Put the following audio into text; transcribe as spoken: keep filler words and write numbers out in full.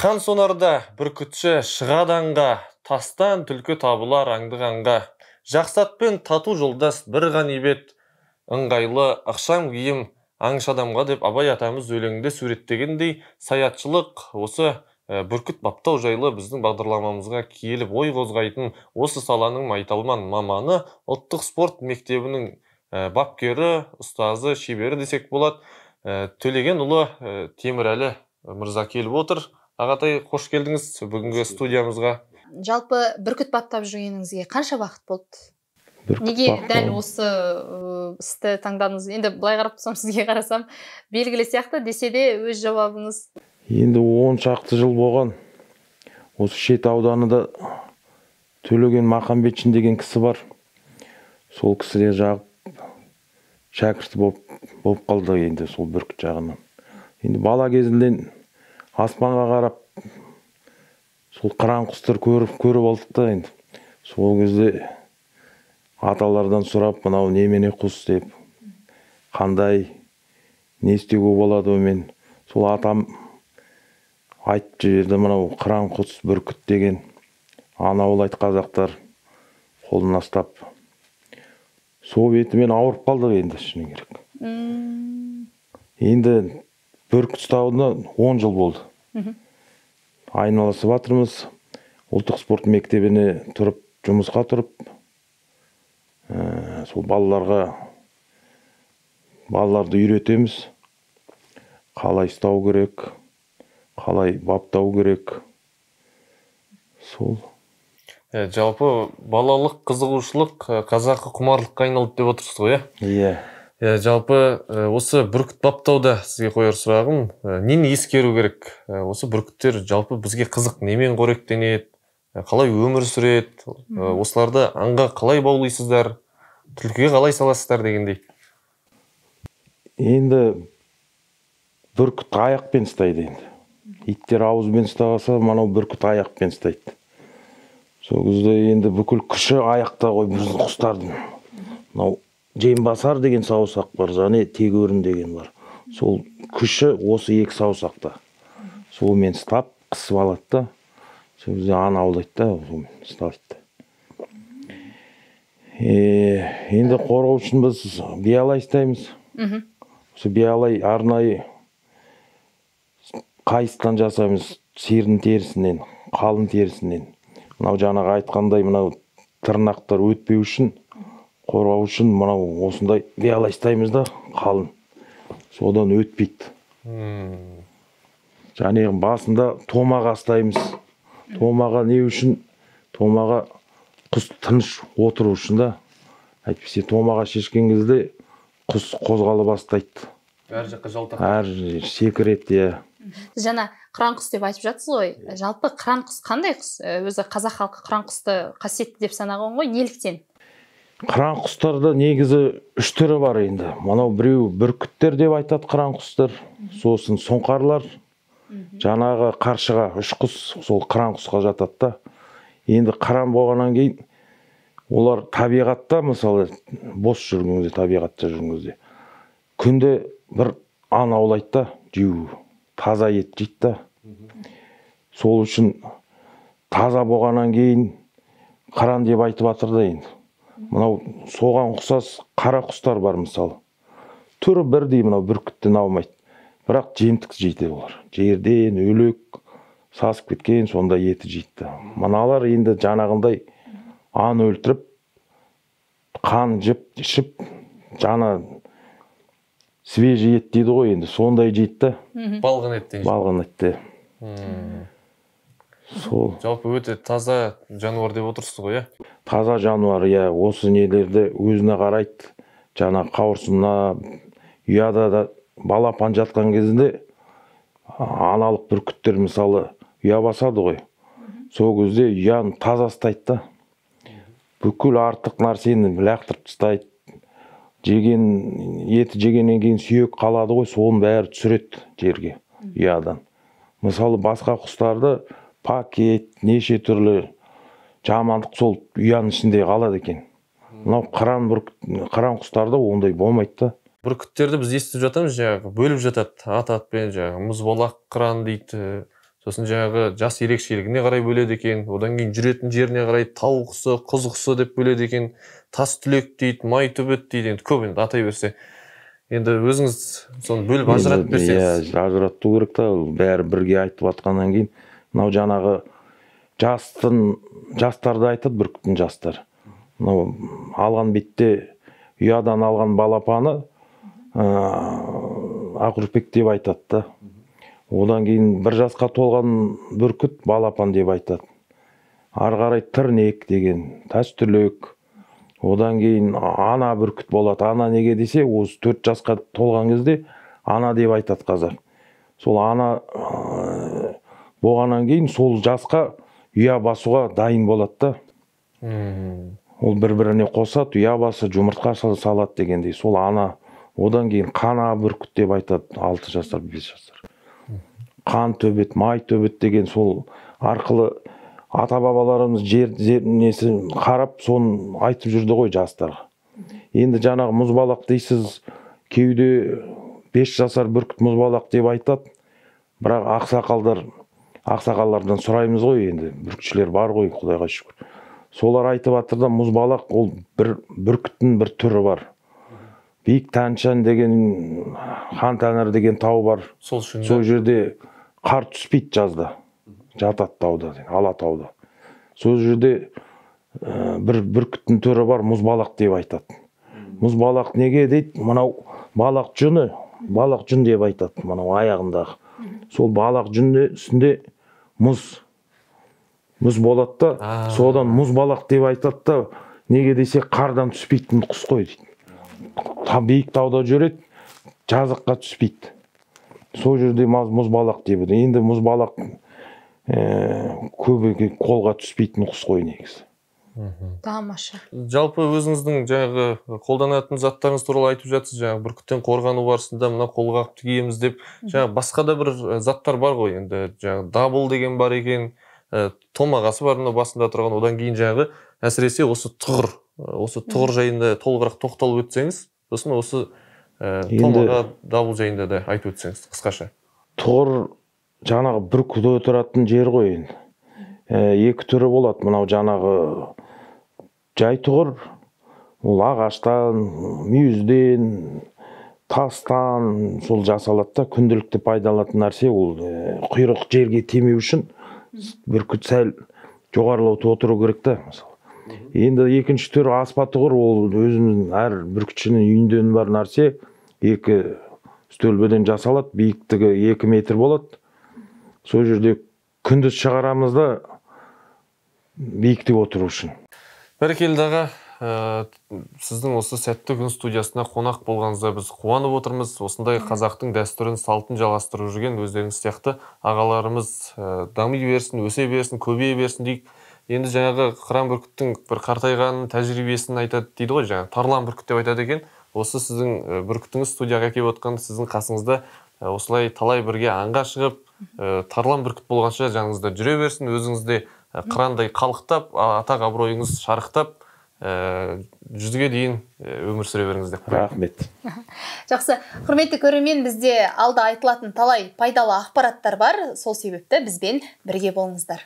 Хан сонарда бүркітші шығаданға, тастан түлкі табылар аңдығанға. Жақсатпен тату жолдас бір ғанибет, ыңғайлы ақшам киім аңшадамға деп Абай атамыз өлеңде суреттегендей, саятшылық осы бүркіт баптау жайлы біздің бағдарламамызға киеліп ой қозғайтын осы саланың майталман маманы, ұлттық спорт мектебінің бапкері, ұстазы, шебері десек болады, Төлегенұлы Темірәлі мырза келіп отыр. Ағатай, қош келдіңіз бүгінгі студиямызға. Жалпы бүркіт баптап жүргеніңізге қанша уақыт болды? Неге дәл осы істі таңдадыңыз? Енді былай қарап тұрсам, сізге қарасам, белгілі сияқты десе де өз жауабыңыз. Енді он шақты жыл болған. Осы Шет ауданында Төлеген Махамбетшин деген кісі бар. Сол кісіге жағып шәкірті болып қалды енді сол бүркіт жағынан. Енді бала кезінден аспанға қарап сол қыран құстар көріп көріп алдық та енді. Сол кезде аталардан сұрап, мынау немене құс деп, қандай не істеуге болады мен. Сол атам айтып жіберді, мынау қыран құс бүркіт деген. Анаулайды қазақтар қолына ұстап. Сол бетімен ауырып қалдық енді шыны керек. Енді бүркіт ұстауына он жыл болды. Айналысып жатырмыз. Ұлттық спорт мектебіне тұрып, жұмысқа тұрып, сол балаларға балаларды үйретеміз. Қалай ұстау керек, қалай баптау керек. Сол. Жалпы балалық қызығушылық қазақы құмарлыққа айналды деп отырсыз ғой, иә? Иә. Жалпы осы бүркіт баптауда сізге қояр сұрағым, нені ескеру керек? Осы бүркіттер жалпы бізге қызық немен қоректенеді, қалай өмір сүреді, осыларды аңға қалай баулайсыздар, түлкіге қалай саласыздар дегендей. Енді бүркіт аяқпен ұстайды енді. Иттер ауызбен ұстағаса, мынау бүркіт аяқпен ұстайды. Сол кезде енді бүкіл күші аяқта ғой біздің құстардың. Мынау Жембасар деген саусақ бар, және тегөрін деген бар. Сол күші осы екі саусақта. Сол мен ұстап, қысып алады да, сол кезде ана аулайды да, сол ұстайды. Енді қорғау үшін біз биялай ұстаймыз. Осы биялай арнайы қайыстан жасаймыз, сиырдың терісінен, қалың терісінен. Мынау жаңағы айтқандай, мынау тырнақтар өтпеу үшін, қорғау үшін мынау осындай биялай ұстаймыз да, қалың. Содан өтпейді. Және басында томаға ұстаймыз. Томаға не үшін? Томаға құс тыныш отыру үшін да. Әйтпесе томаға шешкен кезде құс қозғала бастайды. Әр жаққа жалтақ. Әр секіреді, иә. Жаңа қыран құс деп айтып жатсыз ғой. Жалпы қыран құс қандай құс? Өзі қазақ халқы қыран құсты қасиетті деп санаған ғой. Неліктен? Қыран құстарда негізі үш түрі бар енді. Мынау біреу бүркіттер деп айтады қыран құстар. Сосын сұңқарлар. Жаңағы қаршыға үш құс сол қыран құсқа жатады да. Енді қыран болғаннан кейін олар табиғатта, мысалы, бос жүргенде, табиғатта жүргенде күнде бір аң аулайды да, жеу, таза ет жейді да. Сол үшін таза болғаннан кейін қыран деп айтып жатыр да енді. Мынау соған ұқсас қара құстар бар мысалы. Түрі бірдей, мынау бүркіттен аумайды. Бірақ жемтік жейді олар. Жерден өлек сасып кеткен, сонда еті жейді. Мыналар енді жаңағындай аң өлтіріп, қан жеп, ішіп, жана свежий ет дейді ғой енді, сондай жейді. Балғын ет дейді. Балғын ет. Сол. Жалпы өте таза жануар деп отырсыз ғой, иә? Таза жануар, иә. Осы нелерді өзіне қарайды. Жана қауырсынына, ұяда да балапан жатқан кезінде аналық бүркіттер мысалы ұя басады ғой. Сол кезде ұяны таза ұстайды да. Бүкіл артық нәрсені лақтырып тастайды. Жеген, еті жегеннен кейін сүйек қалады ғой, соның бәрі түсіреді жерге, ұядан. Мысалы басқа құстарды пакет, неше түрлі жамандық сол ұяның ішінде қалады екен. Мынау қыран қыран құстарда ондай болмайды да. Бүркіттерді біз естіп жатамыз, жаңағы бөліп жатады, ат атпен, жаңағы мұзбалақ қыран дейді, сосын жаңағы жас ерекшелігіне қарай бөледі екен, одан кейін жүретін жеріне қарай тау құсы, құз құсы деп бөледі екен, тас түлек дейді, май төбет дейді, енді көп енді атай берсе. Енді өзіңіз соны бөліп ажыратып берсеңіз. Иә, ажырату керек та, бәрі бірге айтып жатқаннан кейін, мынау жаңағы жастың, жастарды айтады бүркіттің жастар. Мынау алған бетте ұядан алған балапаны ақүрпек деп айтады да. Одан кейін бір жасқа толған бүркіт балапан деп айтады. Ары қарай тірнек деген, тас түлек. Одан кейін ана бүркіт болады. Ана неге десе, осы төрт жасқа толған кезде ана деп айтады қазақ. Сол ана болғаннан кейін сол жасқа ұя басуға дайын болады да. Ол бір-біріне қосады, ұя басы жұмыртқа салады дегендей. Сол ана. Одан кейін қана бүркіт деп айтады, алты жастар, бес жастар. Қан төбет, май төбет деген сол арқылы ата-бабаларымыз жер несі қарап, соны айтып жүрді ғой жастарға. Енді жаңағы мұзбалақ дейсіз, кеуде бес жасар бүркіт мұзбалақ деп айтады. Бірақ ақсақалдар, ақсақалдардан сұраймыз ғой енді, бүркітшілер бар ғой, Құдайға шүкір. Солар айтып жатыр да, мұзбалақ ол бір бүркіттің бір түрі бар. Биік Тәншан деген, Хан Тәңір деген тау бар. Сол жерде қар түспейді жазда. Жатады тауда, Алатауда. Сол жерде бір бүркіттің түрі бар, мұзбалақ деп айтады. Мұзбалақ неге дейді? Мынау балақ жүні, балақ жүн деп айтады, мынау аяғындағы. Сол балақ жүнде үстінде мұз. Мұз болады да, содан мұзбалақ деп айтады да, неге десе қардан түспейтін құс қой дейді. Биік тауда жүреді, жазыққа түспейді. Сол жерде мұзбалақ деп. Енді мұзбалақ көбі қолға түспейтін құс қой негізі. Тамаша. Жалпы өзіңіздің жаңағы қолданатын заттарыңыз туралы айтып жатсыз, жаңағы бүркіттен қорғану барысында мына қолғап киеміз деп, жаңағы басқа да бір заттар бар ғой, енді жаңағы дабыл деген бар екен, томағасы бар мына басында тұрған, одан кейін жаңағы әсіресе осы тұғыр, осы тұғыр жайында толығырақ тоқталып өтсеңіз, сосын осы томаға, дабыл жайында да айтып өтсеңіз қысқаша. Тұғыр жаңағы бүркіт отыратын жер ғой енді. Екі түрі болады, мынау жаңағы жай тұғыр, ол ағаштан, мүйізден, тастан сол жасалады да, күнделікті пайдаланатын нәрсе, ол құйрық жерге тимеу үшін бүркіт сәл жоғарылау отыру керек та, мысалы. Енді екінші түрі аспа тұғыр, ол өзінің әр бүркітшінің үйінден бар нәрсе, екі стөлбеден жасалады, биіктігі екі метр болады. Сол жерде күндіз шығарамызда биікте отыру үшін. Бәрекелді аға, сіздің осы сәтті күн студиясына қонақ болғаныңызда біз қуанып отырмыз. Осындай қазақтың дәстүрін, салтын жалғастырып жүрген өздеріңіз сияқты ағаларымыз дами берсін, өсе берсін, көбейе берсін дейік. Енді жаңағы қыран бүркіттің бір қартайғанын, тәжірибесін айтады дейді ғой, жаңағы тарлан бүркіт деп айтады екен. Осы сіздің бүркітіңіз студияға келіп отқан сіздің қасыңызда осылай талай бірге аңға шығып, тарлан бүркіт болғанша жаныңызда жүре берсін, өзіңізде қырандай қалықтап, атақ абыройыңыз шарықтап, жүзге дейін өмір сүре беріңіз деп. Рахмет. Жақсы, құрметті көрермен, бізде алда айтылатын талай пайдалы ақпараттар бар, сол себепті бізбен бірге болыңыздар.